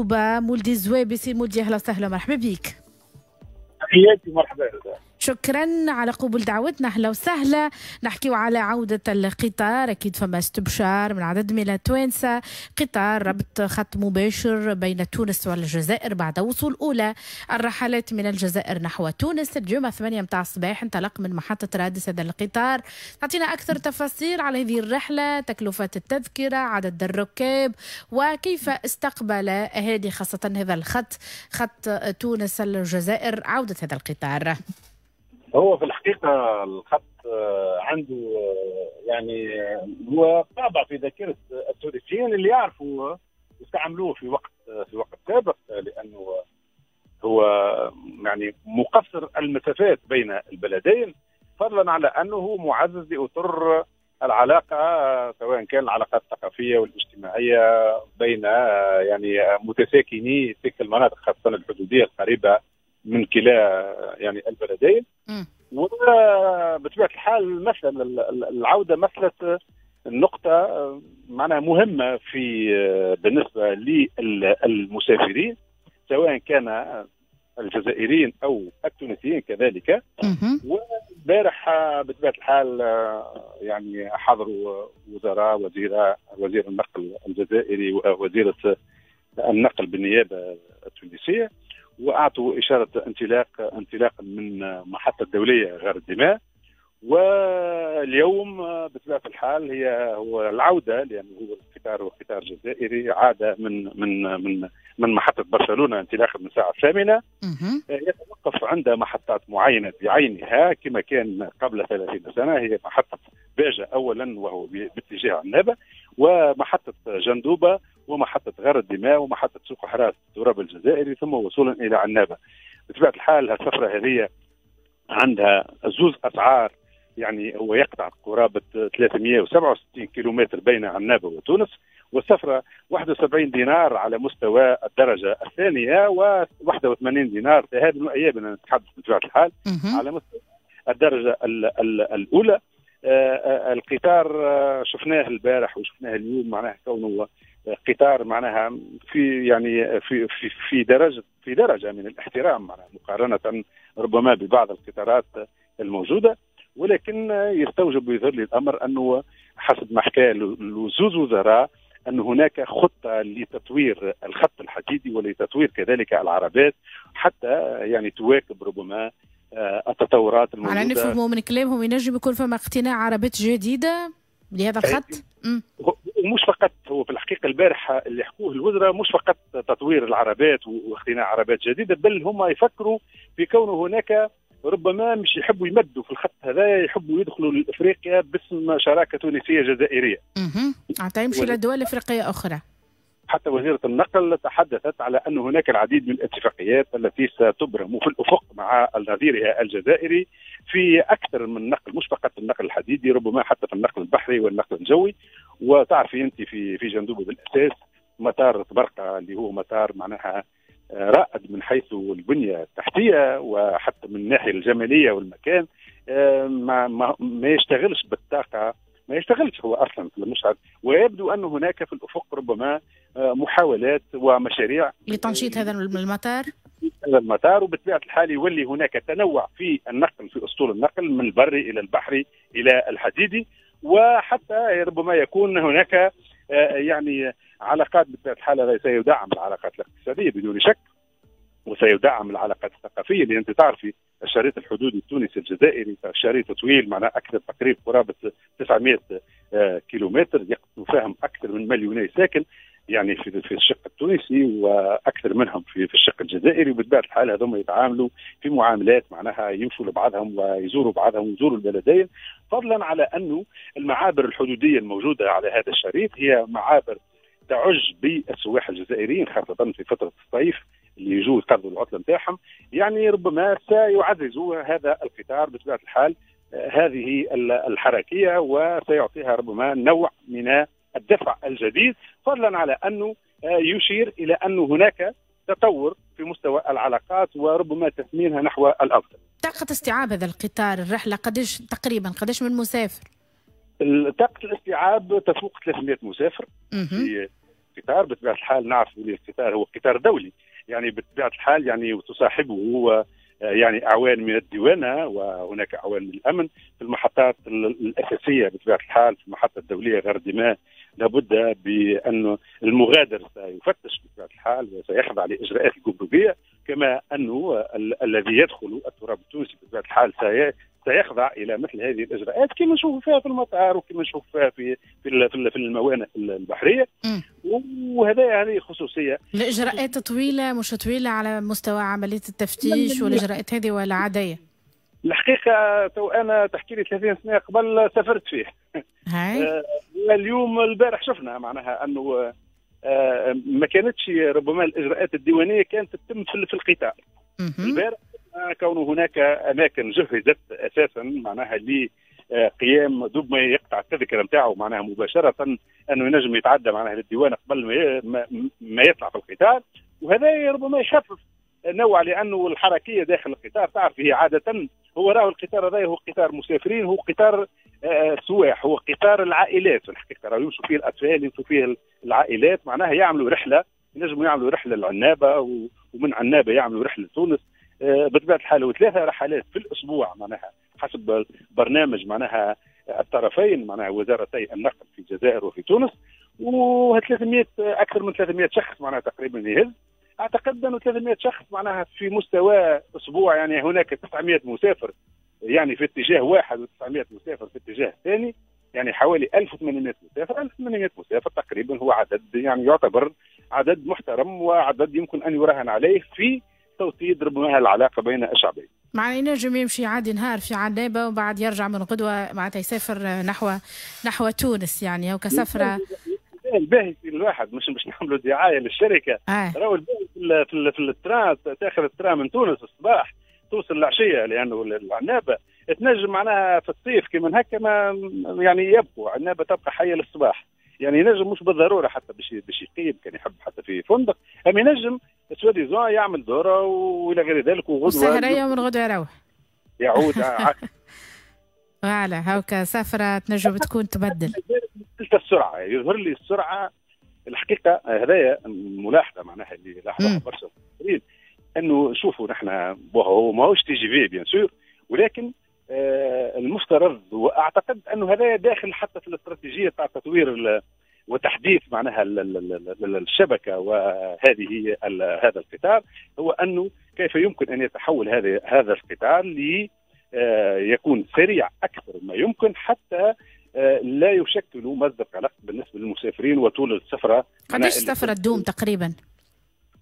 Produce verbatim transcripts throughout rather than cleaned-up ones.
جندوبة مولدي الزوابي. سي مولدي أهلا وسهلا، مرحبا بك. تحياتي، مرحبا. شكرا على قبول دعوتنا، اهلا وسهلا. نحكيو على عودة القطار، اكيد فما استبشار من عدد من التوانسة. قطار ربط خط مباشر بين تونس والجزائر بعد وصول اولى الرحلات من الجزائر نحو تونس اليوم ثمانية متاع الصباح، انطلق من محطة رادس هذا القطار. تعطينا اكثر تفاصيل على هذه الرحلة، تكلفة التذكرة، عدد الركاب، وكيف استقبل اهالي خاصة هذا الخط، خط تونس الجزائر، عودة هذا القطار. هو في الحقيقة الخط عنده يعني هو طابع في ذاكرة التونسيين اللي يعرفوا يستعملوه في وقت في وقت سابق، لأنه هو يعني مقصر المسافات بين البلدين، فضلا على أنه معزز لأطر العلاقة، سواء كان العلاقات الثقافية والاجتماعية بين يعني متساكني تلك المناطق، خاصة الحدودية القريبة من كلا يعني البلدين. وبطبيعة الحال مثل العودة مثلت النقطة معناها مهمة في بالنسبة للمسافرين، سواء كان الجزائريين أو التونسيين كذلك. والبارح بطبيعة الحال يعني حضروا وزراء، وزيرة وزير النقل الجزائري ووزيرة النقل بالنيابة التونسية، واعطوا اشارة انطلاق انطلاقا من محطة الدولية غار الدماء. واليوم بطبيعة الحال هي هو العودة، لانه هو القطار هو قطار جزائري عاد من من من من محطة برشلونة انطلاقا من الساعة الثامنة، يتوقف عند محطات معينة بعينها كما كان قبل ثلاثين سنة، هي محطة باجة اولا وهو باتجاه عنابه، ومحطه جندوبه، ومحطة غار الدماء، ومحطة سوق حراس التراب الجزائري، ثم وصولا إلى عنابة. بطبيعة الحال هالسفرة هذه عندها زوز أسعار، يعني هو يقطع قرابة ثلاثمئة وسبعة وستين كيلومتر بين عنابة وتونس، والسفرة واحد وسبعين دينار على مستوى الدرجة الثانية، وواحد وثمانين دينار ذهاب وإياب نتحدث بطبيعة الحال على مستوى الدرجة ال ال الأولى. آه القطار شفناه البارح وشفناه اليوم، معناها كونه قطار معناها في يعني في في في درجه في درجه من الاحترام، معناها مقارنة ربما ببعض القطارات الموجودة، ولكن يستوجب ويظهر لي الامر انه حسب ما حكى زوز وزراء ان هناك خطه لتطوير الخط الحديدي ولتطوير كذلك العربات حتى يعني تواكب ربما التطورات الموجودة. على نفهموا من كلامهم ينجم يكون فما اقتناع عربات جديدة لهذا الخط؟ ومش فقط هو في الحقيقة البارحة اللي حكوه الوزراء مش فقط تطوير العربات واقتناء عربات جديدة، بل هم يفكروا في كونه هناك ربما مش يحبوا يمدوا في الخط هذا، يحبوا يدخلوا لافريقيا باسم شراكة تونسية جزائرية. اها، حتى يمشي لدول افريقية اخرى. حتى وزيرة النقل تحدثت على أن هناك العديد من الاتفاقيات التي ستبرم في الأفق مع نظيرها الجزائري في أكثر من نقل، مش فقط النقل الحديدي، ربما حتى في النقل البحري والنقل الجوي. وتعرفي أنت في في جندوبة بالأساس مطار طبرقة اللي هو مطار معناها رائد من حيث البنية التحتية وحتى من الناحية الجمالية والمكان، ما, ما, ما يشتغلش بالطاقة، ما يشتغلش هو اصلا في المشهد. ويبدو ان هناك في الافق ربما محاولات ومشاريع لتنشيط هذا المطار هذا المطار، وبطبيعة الحال يولي هناك تنوع في النقل، في اسطول النقل من البري الى البحري الى الحديدي، وحتى ربما يكون هناك يعني علاقات. بطبيعة الحال هذا سيدعم العلاقات الاقتصادية بدون شك، وسيدعم العلاقات الثقافية، اللي انت تعرفي الشريط الحدودي التونسي الجزائري شريط طويل، معناه اكثر تقريبا قرابة تسعمئة كيلومتر، يفهم اكثر من مليوني ساكن يعني في في الشق التونسي واكثر منهم في في الشق الجزائري. وبطبيعة الحال هذوما يتعاملوا في معاملات معناها يمشوا لبعضهم ويزوروا بعضهم ويزوروا البلدين، فضلا على انه المعابر الحدوديه الموجودة على هذا الشريط هي معابر تعج بالسواح الجزائريين خاصة في فترة الصيف اللي يجوا يقضوا العطلة نتاعهم. يعني ربما سيعزز هذا القطار بطبيعة الحال هذه الحركية، وسيعطيها ربما نوع من الدفع الجديد، فضلا على انه يشير الى أن هناك تطور في مستوى العلاقات وربما تثمينها نحو الافضل. طاقة استيعاب هذا القطار الرحلة قداش تقريبا، قداش من مسافر؟ طاقة الاستيعاب تفوق ثلاثمئة مسافر في القطار. بطبيعة الحال نعرف أن القطار هو قطار دولي، يعني بطبيعة الحال يعني تصاحبه هو يعني أعوان من الديوانة وهناك أعوان من الأمن في المحطات الأساسية. بطبيعة الحال في المحطة الدولية غردماء لابد بأن المغادر سيفتش بطبيعة الحال وسيخضع لإجراءات الجمركية، كما أنه ال- الذي يدخل التراب التونسي بطبيعة الحال سي- سيخضع إلى مثل هذه الإجراءات كما نشوف فيها في المطار وكما نشوف فيها في في في الموانئ البحرية. وهذا هذه خصوصية. الإجراءات طويلة مش طويلة على مستوى عملية التفتيش والإجراءات هذه ولا عادية؟ الحقيقة تو أنا تحكي لي ثلاثين سنة قبل سافرت فيه. هاي. اليوم البارح شفنا معناها أنه ما كانتش ربما الإجراءات الديوانية كانت تتم في القطار. البارح كون هناك أماكن جهزت أساسا معناها لقيام دوب ما يقطع التذكرة نتاعو معناها مباشرة أنه ينجم يتعدى معناها للديوان قبل ما ما يطلع في القطار، وهذا ربما يخفف نوع لأنه الحركية داخل القطار تعرف هي عادة هو راهو القطار هذا هو قطار مسافرين، هو قطار سواح، هو قطار العائلات في الحقيقة، راهو يمشوا فيه الأطفال يمشوا فيه العائلات معناها يعملوا رحلة، ينجموا يعملوا رحلة لعنابة ومن عنابة يعملوا رحلة لتونس. بطبيعة الحال وثلاثة رحلات في الأسبوع معناها حسب برنامج معناها الطرفين معناها وزارتي النقل في الجزائر وفي تونس، و ثلاثمئة أكثر من ثلاثمئة شخص معناها تقريبا يهز. أعتقد أنه ثلاثمئة شخص معناها في مستوى أسبوع يعني هناك تسعمئة مسافر يعني في اتجاه واحد وتسعمئة مسافر في اتجاه ثاني، يعني حوالي ألف وثمانمئة مسافر. ألف وثمانمئة مسافر تقريبا هو عدد يعني يعتبر عدد محترم وعدد يمكن أن يراهن عليه في توطيد ربما العلاقة بين الشعبين. معناها ينجم يمشي عادي نهار في عنابة وبعد يرجع من غدوة معناتها يسافر نحو نحو تونس يعني أو كسفرة. الباهي في الواحد مش باش نعملوا دعاية للشركة، آه. راهو الباهي في في, في ال train، تاخذ ال train من تونس الصباح توصل العشية لأنه العنابة تنجم معناها في الصيف كي هكا ما يعني يبقوا عنابة تبقى حية للصباح، يعني ينجم مش بالضرورة حتى باش باش يقيم كان يحب حتى في فندق، أما ينجم soi-disant يعمل دوره والى غير ذلك وغدوه سهريه ومن غدوه يروح يعود. voilà هاكا سفره تنجم تكون تبدل السرعة. يظهر لي السرعة الحقيقة هذايا ملاحظة معناها اللي لاحظها برشا انه شوفوا نحن هو ماهوش TGV bien sûr، ولكن آه المفترض واعتقد انه هذا داخل حتى في الاستراتيجية تاع تطوير وتحديث معناها الشبكة وهذه هذا القطار، هو انه كيف يمكن ان يتحول هذا هذا القطار ليكون سريع اكثر ما يمكن حتى لا يشكل مصدر قلق بالنسبة للمسافرين وطول السفرة. قداش السفرة تدوم تقريبا؟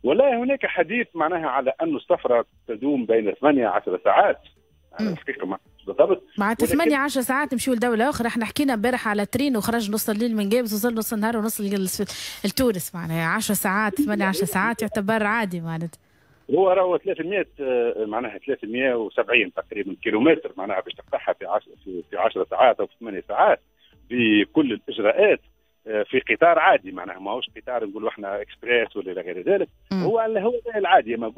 والله هناك حديث معناها على أن السفرة تدوم بين ثمانية عشر ساعات. الحقيقة ما بالضبط معناتها ثمانية عشر ساعات نمشيو لدولة أخرى. احنا حكينا امبارح على train وخرج نص الليل من قابس وصل نص النهار ونص لتونس، معناها عشر ساعات ثمانية عشر ساعات يعتبر عادي معناتها. هو راهو ثلاثمئة معناها ثلاثمئة وسبعين تقريبا كيلومتر معناها باش تقطعها في عشر في عشر ساعات أو في ثمانية ساعات بكل الإجراءات في قطار عادي، معناها ماهوش قطار نقولوا احنا اكسبريس ولا الى غير ذلك، هو هو العادي. ما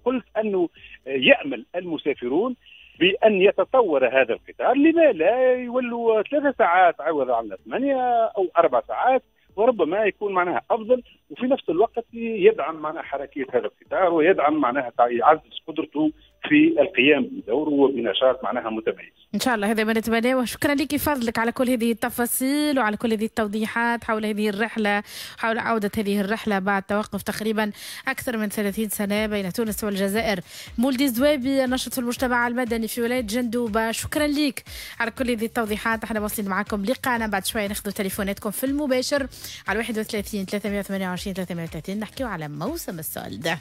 قلت انه يامل المسافرون بان يتطور هذا القطار، لما لا يولوا ثلاث ساعات عوض عن ثمانية او اربع ساعات، وربما يكون معناها افضل، وفي نفس الوقت يدعم معناها حركية هذا القطار ويدعم معناها يعزز قدرته في القيام بدوره وبنشاط معناها متميز. ان شاء الله هذا ما نتمناه. شكرا لك فضلك على كل هذه التفاصيل وعلى كل هذه التوضيحات حول هذه الرحلة، حول عوده هذه الرحلة بعد توقف تقريبا اكثر من ثلاثين سنة بين تونس والجزائر. مولدي الزوابي الناشط في المجتمع المدني في ولاية جندوبه، شكرا لك على كل هذه التوضيحات. احنا واصلين معكم لقاءنا بعد شوية، ناخذ تليفوناتكم في المباشر على واحد وثلاثين ثلاثمئة وثمانية وعشرين ثلاثمئة وثلاثين نحكيو على موسم ال soldes.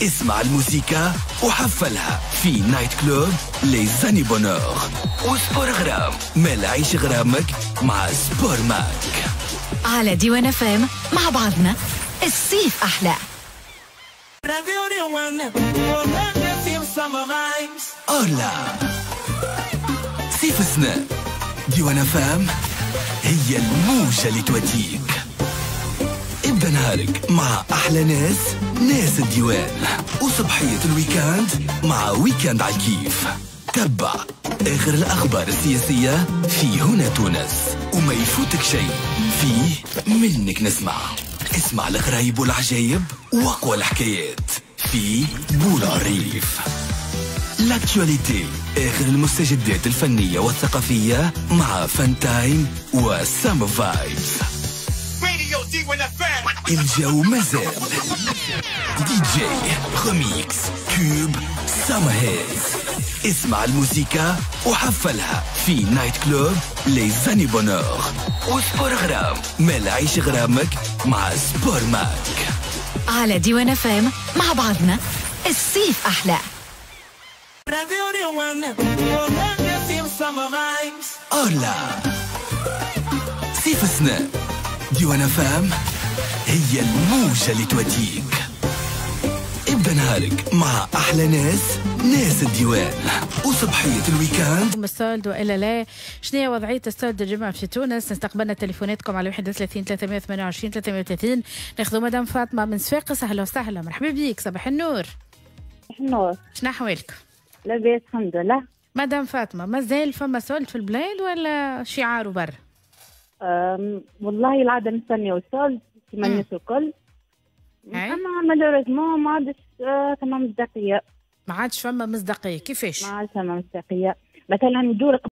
اسمع الموسيقى وحفلها في night club les années bonheur و sport غرام، ما العيش غرامك مع سبور ماك على ديوان اف ام. مع بعضنا الصيف احلى. أولا صيف السنة ديوان اف ام هي الموجة اللي توديك. ابدأ نهارك مع أحلى ناس، ناس الديوان، وصبحية ال week-end مع week-end على الكيف. تبع آخر الأخبار السياسية في هنا تونس، وما يفوتك شيء فيه منك نسمع. اسمع الغرايب والعجايب وأقوى الحكايات في بولعريف. l'actualité، آخر المستجدات الفنية والثقافية مع Fun Time و Summer Vibes. الجو مازال DJ remix tubes summer hits. اسمع الموسيقى وحفلها في night club les années bonheur و sport غرام. مال عيش غرامك مع Sport Mag على ديوان اف ام. مع بعضنا الصيف احلى. أولا صيف السنة ديوان اف ام هي الموجة اللي توديك. ابدا نهارك مع احلى ناس، ناس الديوان، وصبحية ال week-end. ال solde والا لا؟ شنو هي وضعية ال solde الجمعة في تونس؟ استقبلنا تليفوناتكم على واحد وثلاثين ثلاثمية وثمانية وعشرين ثلاثمية وثلاثين. ناخذ مدام فاطمة من صفاقس. اهلا وسهلا، مرحبا بك، صباح النور. صباح النور. شنو احوالك؟ لاباس الحمد لله. مدام فاطمه، مازال فما solde في البلاد ولا شعار برا؟ والله العادة نستنيو ال solde كيما الناس الكل، اما malheureusement ما عادش آه، ثم مصداقيه. ما عادش فما مصداقيه، كيفاش؟ ما عادش فما مصداقيه، مثلا يدور